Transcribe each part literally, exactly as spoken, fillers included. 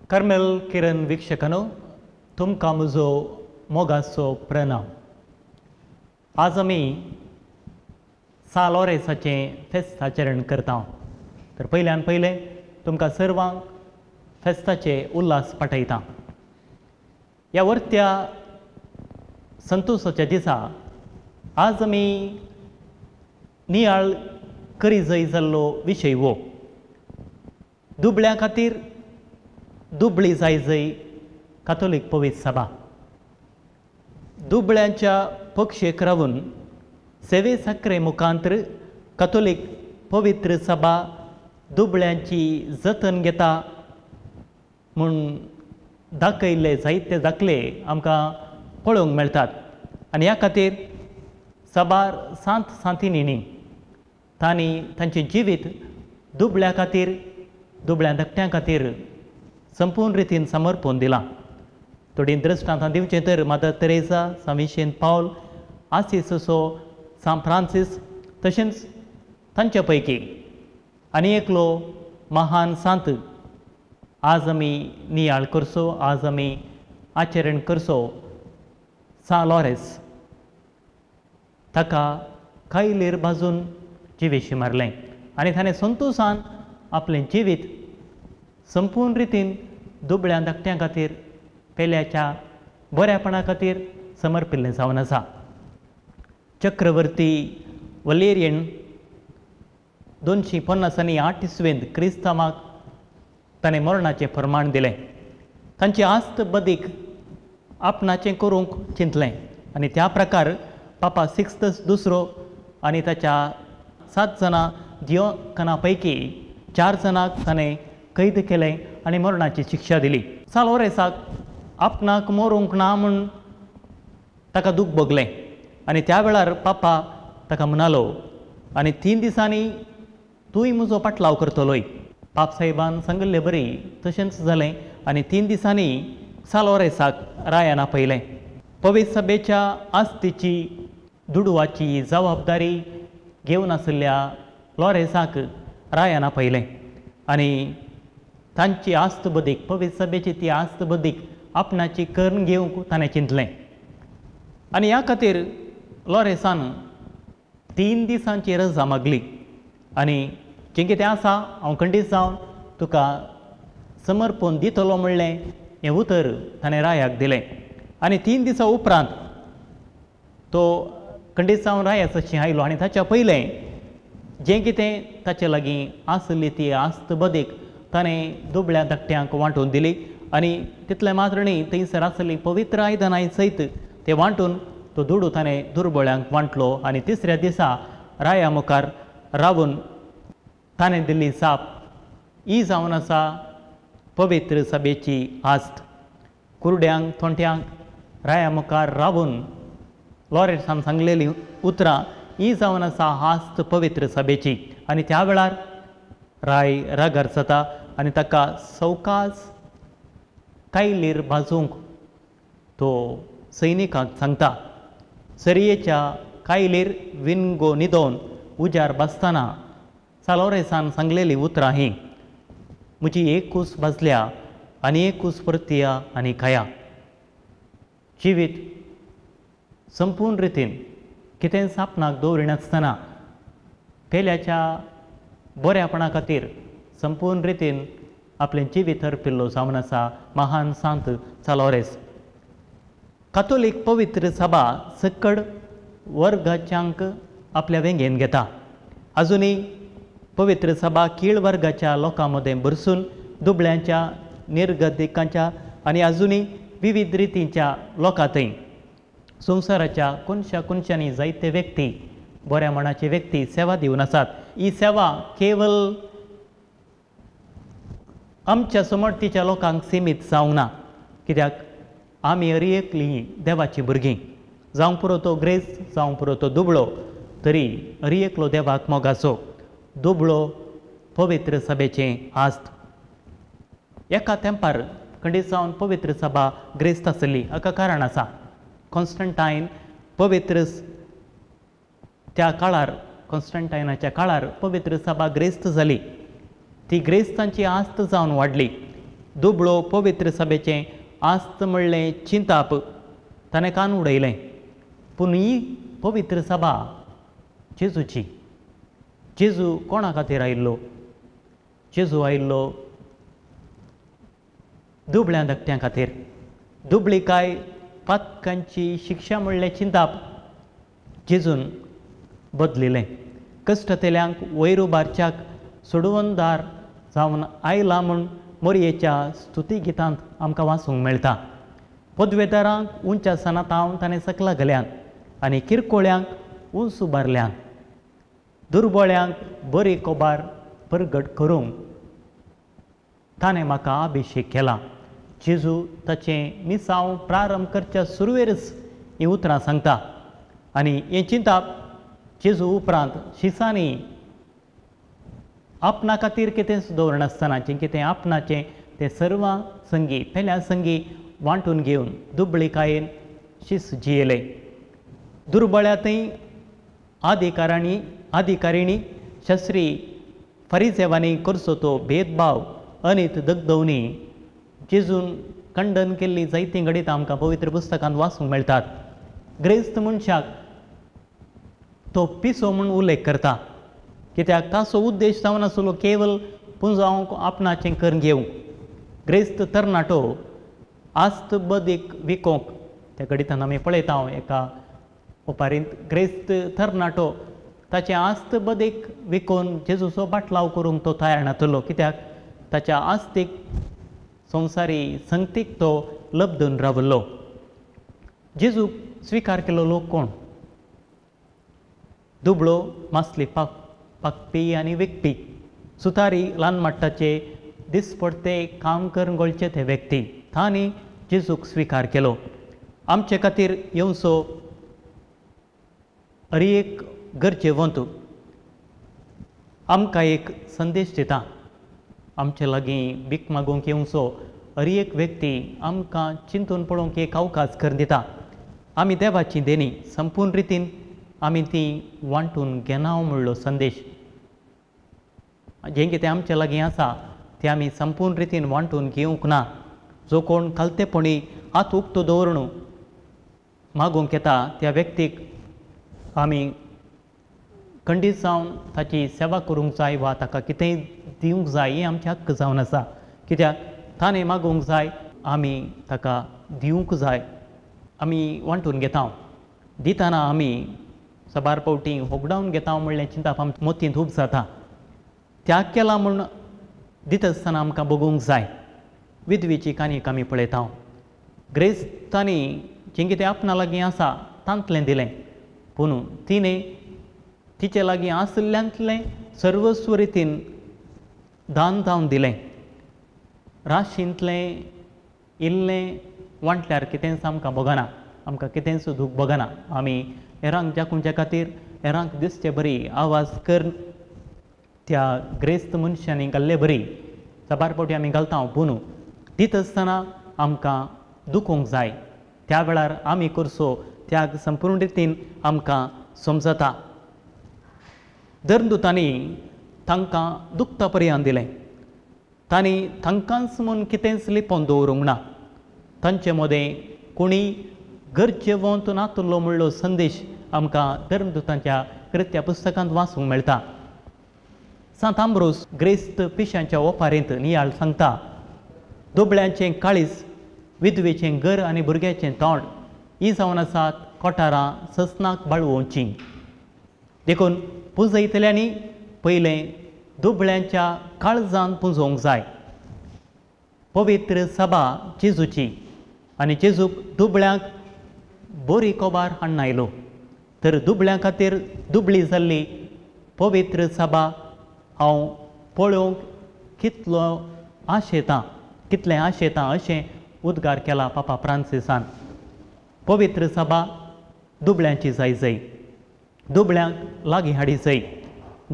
Carmel किरण वीक्षकांनो, तुमकां म्हजो मोगाचो प्रणाम। आज आमी सां लॉरेन्साचें फेस्त आचरण करता। तर पयल्यान पयलें तुमकां सर्वांक फेस्ताचे उल्हास पाठयता। ह्या वरत्या संतोशाच्या दिसा आज आमी नियाळ करी जाय जाल्लो विशय हो दुबळ्यां खातीर दुबळी जाय जय कातोलीक पवित्र सभा। दुबळ्यांच्या पक्षेक रावून सेवे साखरे मुखांतर कातोलीक पवित्र सभा दुबळ्यांची जतन घेता म्हूण दाखयल्ले जायते दाखले आमकां पळोवंक मेळटात। आनी ह्या खातीर साबार सांत सांतिनींनी तांणी तांचें जिवीत दुबळ्या खातीर, दुबळ्या धाकट्यां खातीर संपूर्ण रितीन समर्पण दिलां। थोडीं दृश्टांतां दिवचें तर मदर तेरेसा, सांत विन्सेंत पावल, आसिसो, सांत फ्रांसीस, तशेंच तांचे पैकी आनी एकलो महान सांत आज आमी नियाळ करचो, आज आमी आचरण करचो, सां लॉरेन्स। ताका कायलेर भाजून जिवेशी मारलें आनी ताणें संतोशान आपलें जिवीत संपूर्ण रितीन दुबळ्या धाकट्यां खातीर, पेल्याच्या बऱ्यापणा खातीर समर्पिल्लें जावन आसा। चक्रवर्ती वलेरियन दोनशीं पन्नास आनी आठ इसवेंत क्रिस्तांवाक ताणें मरणाचें प्रमाण दिलें। तांची आस्त बदीक आपणाचें करूंक चिंतलें आनी त्या प्रकार पापा सिक्स्तस दुसरो आनी ताच्या सात जाणां दियोकना पैकी चार जाणांक ताणें कैद केलें आनी मरणाची शिक्षा दिली। सां लॉरेन्साक आपणाक मरूंक ना म्हूण ताका दूख भोगलें आनी त्या वेळार पापा ताका म्हणालो, आनी तीन दिसांनी तूंय म्हजो पाटलाव करतलोय। पाप साहेबान सांगिल्ले बरी तशेंच जालें आनी तीन दिसांनी सां लॉरेन्साक रायान आपयलें। पवित्र सभेच्या आस्तीची दुडवाची जबाबदारी घेवन आशिल्ल्या लॉरेन्साक रायान आपयलें आनी तांची आस्त बदीक, पवित्र सभेची ती आस्त बदीक आपणाची करून घेवंक ताणें चिंतलें। आनी ह्या खातीर लॉरेन्सान तीन दिसांची रजा मागली आनी जें कितें आसा हांव खंडीत जावन तुका समर्पण दितलो म्हणलें हें उतर ताणें रायाक दिलें। आनी तीन दिसां उपरांत तो खंडीत जावन रायाचशी आयलो आनी ताच्या पयलें जें कितें ताचे लागीं आसली ती आस्त बदीक ताणें दुबळ्या धाकट्यांक वांटून दिली आनी तितलें मात्र न्ही, थंयसर आसली पवित्र आयदनां सयत ते वांटून तो दुडू ताणें दुर्बळ्यांक वांटलो। आनी तिसऱ्या दिसा राया मुखार रावून ताणें दिल्ली जाप ही जावन आसा पवित्र सभेची आस्त। कुरड्यांक थोंट्यांक राया मुखार रावून लॉरेन्सान सांगलेलीं उतरां ही जावन आसा आस्त पवित्र सभेची। आनी त्या वेळार राय रागार जाता आनी ताका सवकास कायलीर भाजूंक तो सैनिकांक सांगता। सरयेच्या कायलीर विनगो न्हिदोवन उजार भाजतना सां लॉरेन्सान सांगलेलीं उतरां हीं, म्हजी एक कूस भाजल्या आनी एक कूस परतिया आनी खाया। जिवीत संपूर्ण रितीन कितेंच आपणाक दवरिनासतना पेल्याच्या बऱ्यापणा खातीर संपूर्ण रितीन आपलें जिवीत अर्पिल्लो जावन आसा महान सांत सां लॉरेन्स। कातोलीक पवित्र सभा सकड वर्गाच्यांक आपल्या वेंगेन घेता। आजुनूय पवित्र सभा कीळ वर्गाच्या लोकां मदें भरसून दुबळ्यांच्या, निर्गतिकांच्या आनी आजुनूय विविध रितींच्या लोकां थंय संवसाराच्या कोनशा कोनशांनी जायते व्यक्ती, बऱ्या मनाचे व्यक्ती सेवा दिवन आसात। ही सेवा केवल आमच्या समर्थीच्या लोकांक सिमीत जावंक ना, कित्याक आमी हर एकलीं देवाचीं भुरगीं, जावंक पुरो तो ग्रेस, जावंक पुरो तो दुबळो, तरी हर एकलो देवाक मोगाचो दुबळो पवित्र सभेचें आस्त। एका तेंपार खंडीत जावन पवित्र सभा ग्रेस्त आसली, हाका कारण आसा। कॉन्स्टंटायन पवित्र त्या काळार, कॉन्स्टंटायनाच्या काळार पवित्र सभा ग्रेस्त जाली। ती ग्रेस्तांची आस्त जावन वाडली। दुबळो पवित्र सभेचें आस्त म्हणलें चिंताप ताणें कान उडयलें. पूण ही पवित्र सभा जेजूची. जेजू कोणा खातीर आयिल्लो? जेजू आयिल्लो दुबळ्या धाकट्यां खातीर. दुबळीकाय पातकांची शिक्षा म्हणलें चिंताप जेजून बदलिलें. कश्टतेल्यांक वयर उबारच्याक सोडवणदार जावन आयला म्हूण मोरयेच्या स्तुती गितांत आमकां वाचूंक मेळटा. पदवेदारांक उंच सनातावन ताणें सकला घाल्यात आनी किरकोळ्यांक उंच उबारल्यात. दुर्बळ्यांक बरी कोबार परगट करूंक ताणें म्हाका अभिशेक केला. जेजू ताचें मिसांव प्रारंभ करच्या सुरवेरच हीं उतरां सांगता आनी हें चिंताप जेजू उपरांत शिसांनी आपणा खातीर कितेंच दवरनासतना जें कितें आपणाचें तें सर्वां संगी पेल्या संगी वांटून घेवन दुबळीकायेन शीस जियेले. दुर्बळ्या थंय आदिकारांनी अधिकारिणी शस्त्री फरिजेवांनी करचो तो भेदभाव अनीत दगदवणी जेजून खंडन केल्ली जायतीं घडितां आमकां पवित्र पुस्तकांत वाचूंक मेळटात. ग्रेस्त मनशाक तो पिसो म्हूण उल्लेख करता, कित्याक ताचो उद्देश जावन आसलो केवल पुंजावंक आपणाचें करून घेवंक. ग्रेस्त तरणाटो आस्त बदीक विकोंक त्या घडितान आमी पळयता एका ओपारींत ग्रेस्त तरणाटो ताचें आस्त बदीक विकोवन जेजूचो बाटलाव करूंक तो तयार नातलो, कित्याक ताच्या आस्तीक संवसारी संगतीक तो लब्दून रावलो. जेजूक स्विकार केलो लोक कोण? दुबळो मासली पाक पाकपी आनी विकपी, सुतारी ल्हान माट्टाचे दिसपडते काम करून गोळचे ते व्यक्ती तांणी जेजूक स्विकार केलो. आमचे खातीर येवचो हर एक गरजेवंत आमकां एक संदेश दिता. आमचे लागीं भीक मागूंक येवचो हर एक व्यक्ती आमकां चिंतून पळोवंक एक अवकाश करून दिता. आमी देवाची देणी संपूर्ण रितीन आमी ती वांटून घेना म्हणलो संदेश जें कितें आमचे लागीं आसा तें आमी संपूर्ण रितीन वांटून घेवंक ना. जो कोण खालतेपणी हात उक्तो दवरून मागूंक येता त्या व्यक्तीक आमी खंडीत जावन ताची सेवा करूंक जाय वा ताका कितेंय दिवंक जाय हें आमचें हक्क जावन आसा, कित्याक ताणें मागूंक जाय आमी ताका दिवंक जाय. आमी वांटून घेता दितना आमी साबार फावटी होगडावन घेता म्हणलें चिंताप आमच्या मोतींत खूब जाता. त्याग केला म्हूण दिता आसतना आमकां बगूंक जाय. विधवेची काणयेक आमी पळयता. ग्रेस्तांनी जें कितें आपणा लागीं आसा तांतलें दिलें, पूण तिणें तिचे लागीं आशिल्ल्यांतलें सर्वस्व रितीन दान जावन दिलें. राशींतलें इल्लें वांटल्यार कितेंच आमकां भोगना, आमकां कितेंच दूख भोगना. आमी हेरांक जाकुंच्या खातीर हेरांक दिसचे बरी आवाज करून त्या ग्रेस्त मनशांनी घाल्ले बरी साबार फावटी आमी घालता. पूण दिता आसतना आमकां दुखोवंक जाय. त्या वेळार आमी करचो त्याग संपूर्ण रितीन आमकां समजता. धर्मदूतांनी तांकां दुखता पर्यंत दिलें. तांणी तांकांच म्हूण कितेंच लिपोवन दवरूंक ना. तांचे मदें कोणी गरजेवंत नातुल्लो म्हणलो संदेश आमकां धर्मदूतांच्या कृत्या पुस्तकांत वाचूंक मेळटा. सांत आंब्रोस ग्रेस्त पिशांच्या ओपारींत नियाळ सांगता, दुबळ्यांचें काळीज, विधवेचें घर आनी भुरग्याचें तोंड ही जावन आसात कोठारां ससनाक बाळवोवचीं. देखून पुंजयतल्यांनी पयलें दुबळ्यांच्या काळजान पुंजोवंक जाय. पवित्र सभा जेजूची आनी जेजूक दुबळ्यांक बोरी कोबार हाडून आयलो, तर दुबळ्यां खातीर दुबळी जाल्ली पवित्र सभा हांव पळोवंक कितलो आशेतां, कितलें आशेतां अशें उद्गार केला पापा फ्रांसिसान. पवित्र सभा दुबळ्यांची जाय जाय, दुबळ्यांक लागीं हाडी जाय.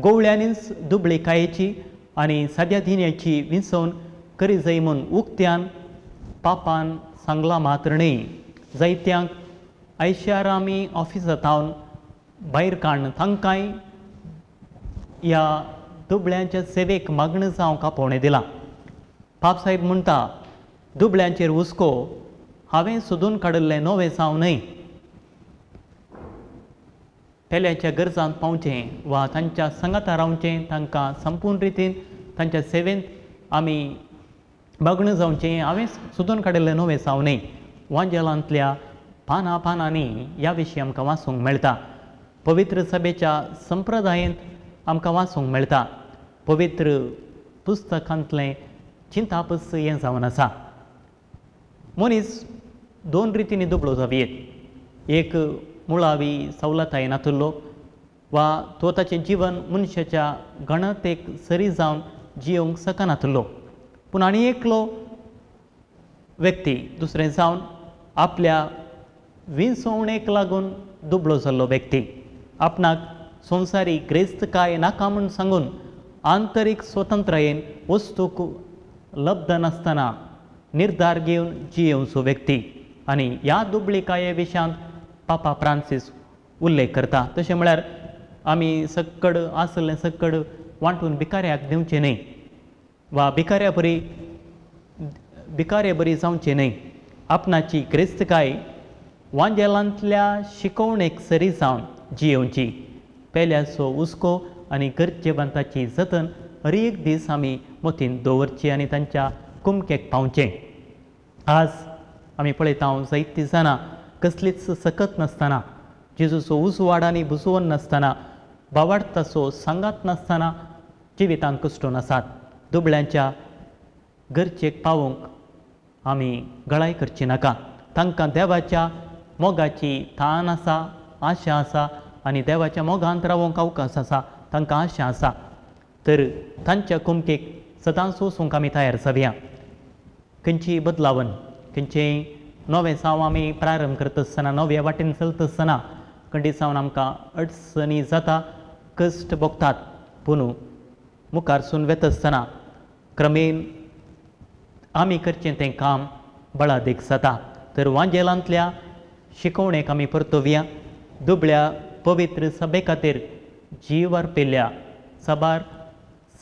गोवळ्यांनीच दुबळीकायेची आनी साद्या दिन्याची विंचोवन करी जाय म्हूण उक्त्यान पापान सांगलां मात्र न्हय, जायत्यांक आयशारामी ऑफिसांत भायर काडून तांकांय ह्या दुबळ्यांच्या सेवेक मागणें जावंक आपोवणें दिलां. पापसाहेब म्हणटा, दुबळ्यांचेर हुस्को हांवें सोदून काडिल्लें नवें साव न्हय. पेल्याच्या गरजांत पावचें वा तांच्या सांगाता रावचें, तांकां संपूर्ण रितीन तांच्या सेवेंत आमी बागणू जावचें, हांवें सोदून काडिल्लें नवें साव न्हय. वांजेलांतल्या पानां पानांनी ह्या विशीं आमकां वाचूंक मेळटा. पवित्र सभेच्या संप्रदायेंत आमकां वाचूंक मेळटा. पवित्र पुस्तकांतलें चिंतापस हें जावन आसा. मनीस दोन रितींनी दुबळो जावयेत. एक मुळावी सवलताय नातुल्लो वा तो ताचें जीवन मनशाच्या गणतेक सरी जावन जियोवंक शकनातुल्लो. पूण आनी एकलो व्यक्ती दुसरें जावन आपल्या विंचवणेक लागून दुबळो जाल्लो व्यक्ती, आपणाक संवसारी ग्रेस्तकाय नाका म्हूण सांगून आंतरीक स्वतंत्रायेन वस्तूक लब्ध नासतना निर्धार घेवन जियेवचो व्यक्ती. आनी ह्या दुबळीकाये विशयांत पापा फ्रांसीस उल्लेख करता. तशें म्हळ्यार आमी सक्कड आसलें सक्कड वांटून भिकाऱ्याक दिवचें न्हय वा भिकाऱ्या बरी भिकारे बरी जावचें न्हय. आपणाची ग्रेस्तकाय वांजेलांतल्या शिकोवणेक सरी जावन जियेवची. पेल्याचो हुस्को आनी गरजेवंताची जतन हर एक दीस आमी मतींत दवरची आनी तांच्या कुमकेक पावचें. आज आमी पळयता जायतीं जाणां कसलीच सकत नासतना, जेजूचो उजवाड आनी बुजवण नासतना, बावाडताचो सांगात नासतना जिवितांत कश्टून आसात. दुबळ्यांच्या गरजेक पावोवंक आमी गळाय करची नाका. तांकां देवाच्या मोगाची तान आसा, आशा आसा आनी देवाच्या मोगांत रावोंक अवकाश आसा, तांकां आशा आसा. तर तांच्या कुमकेक सदांच वचूंक आमी तयार जावया. खंयचीय बदलावन, खंयचेय नवें साव आमी प्रारंभ करता आसतना, नव्या वाटेन चलता आसतना खंडीत सावन आमकां अडचणी जाता, कश्ट भोगतात. पूण मुखारसून वेता आसतना क्रमेन आमी करचें तें काम बळादीक जाता. तर वांजेलांतल्या शिकोवणेक आमी परतोवया. दुबळ्या पवित्र सभे खातीर जीव अर्पिल्ल्या साबार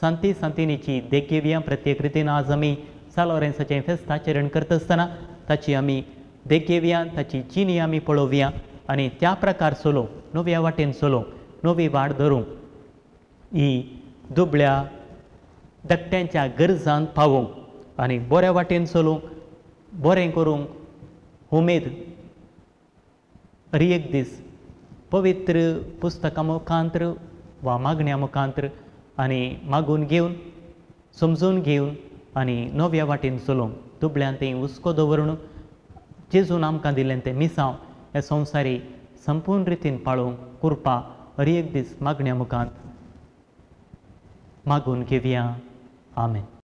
सांती सांतिनीची देख घेवया. प्रत्येक रितीन आज आमी सान लोरेन्साचें फेस्त आचरण करता आसतना ताची आमी देख घेवया, ताची जिणी आमी पळोवया आनी त्या प्रकार चलोवंक, नव्या वाटेन चलोवंक, नवी वाट धरूंक, ही दुबळ्या धाकट्यांच्या गरजांत पावोवंक आनी बऱ्या वाटेन चलूंक, बरें करूंक उमेद हर एक दीस पवित्र पुस्तकां मुखांत्र वा मागण्या मुखांत्र आनी मागून घेवन, समजून घेवन आनी नव्या वाटेन चलोवंक, दुबळ्यान तें हुस्को दवरून जेजून आमकां दिल्लें तें मिसांव हे संवसारी संपूर्ण रितीन पाळोवंक कृपा हर एक दीस मागण्या मुखांत मागून घेवया. आमेन.